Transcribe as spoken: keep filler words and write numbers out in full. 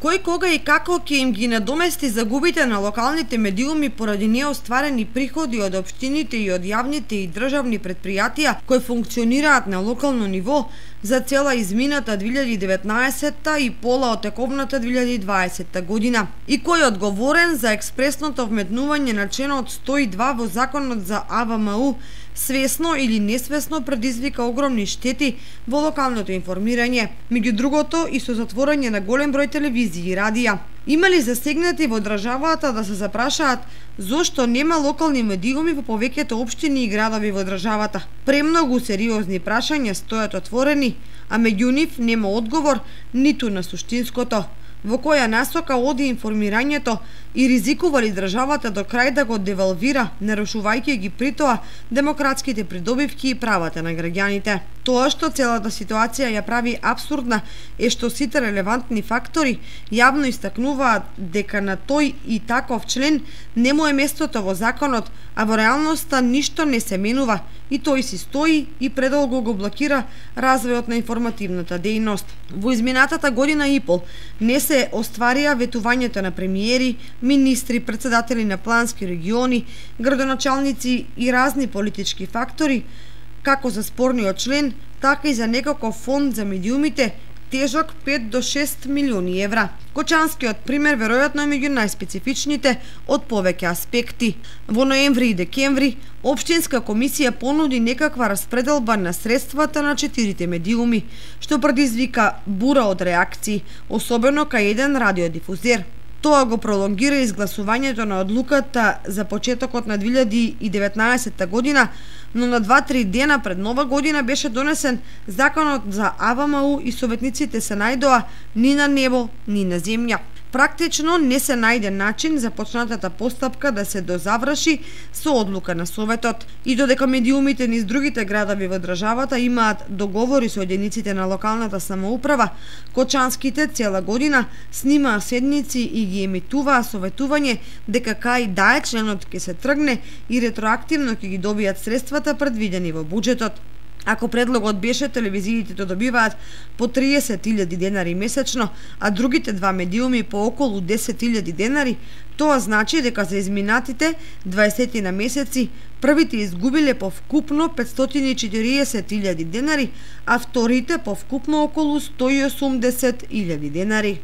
Кој, кога и како ќе им ги надомести загубите на локалните медиуми поради неостварени приходи од општините и од јавните и државни предпријатија кои функционираат на локално ниво за цела измината две илјади и деветнаесетта и пола од тековната две илјади и дваесетта година, и кој е одговорен за експресното вметнување на членот сто и два во Законот за А В М У, свесно или несвесно предизвика огромни штети во локалното информирање, меѓу другото и со затворање на голем број телевизии и радија. Има ли засегнати во државата да се запрашаат зошто нема локални медиуми во повеќето општини и градови во државата? Премногу сериозни прашања стојат отворени, а меѓу нив нема одговор ниту на суштинското. Во која насока оди информирањето и ризикува ли државата до крај да го девалвира, нарушувајќи ги при тоа демократските придобивки и правата на граѓаните. Тоа што целата ситуација ја прави абсурдна е што сите релевантни фактори јавно истакнуваат дека на тој и таков член не му е местото во законот, а во реалноста ништо не се менува и тој си стои и предолго го блокира развојот на информативната дејност. Во изминатата година и пол не се остварија ветувањето на премиери, министри, председатели на плански региони, градоначалници и разни политички фактори, како за спорниот член, така и за некаков фонд за медиумите, тежок пет до шест милиони евра. Кочанскиот пример веројатно е меѓу најспецифичните од повеќе аспекти. Во ноември и декември, Општинска комисија понуди некаква распределба на средствата на четирите медиуми, што предизвика бура од реакции, особено кај еден радиодифузер. Тоа го пролонгира изгласувањето на одлуката за почетокот на две илјади и деветнаесетта година, но на два-три дена пред Нова година беше донесен Законот за А В М У и советниците се најдоа ни на небо, ни на земја. Практично не се најде начин за почнатата постапка да се дозаврши со одлука на Советот. И додека медиумите низ другите градови во државата имаат договори со единиците на локалната самоуправа, кочанските цела година снимаа седници и ги емитуваа советување дека кај да е членот ќе се тргне и ретроактивно ќе ги добијат средствата предвидени во буџетот. Ако предлогот беше телевизиите да добиваат по триесет илјади денари месечно, а другите два медиуми по околу десет илјади денари, тоа значи дека за изминатите дваесет на месеци првите изгубиле по вкупно петстотини и четириесет илјади денари, а вторите по вкупно околу сто и осумдесет илјади денари.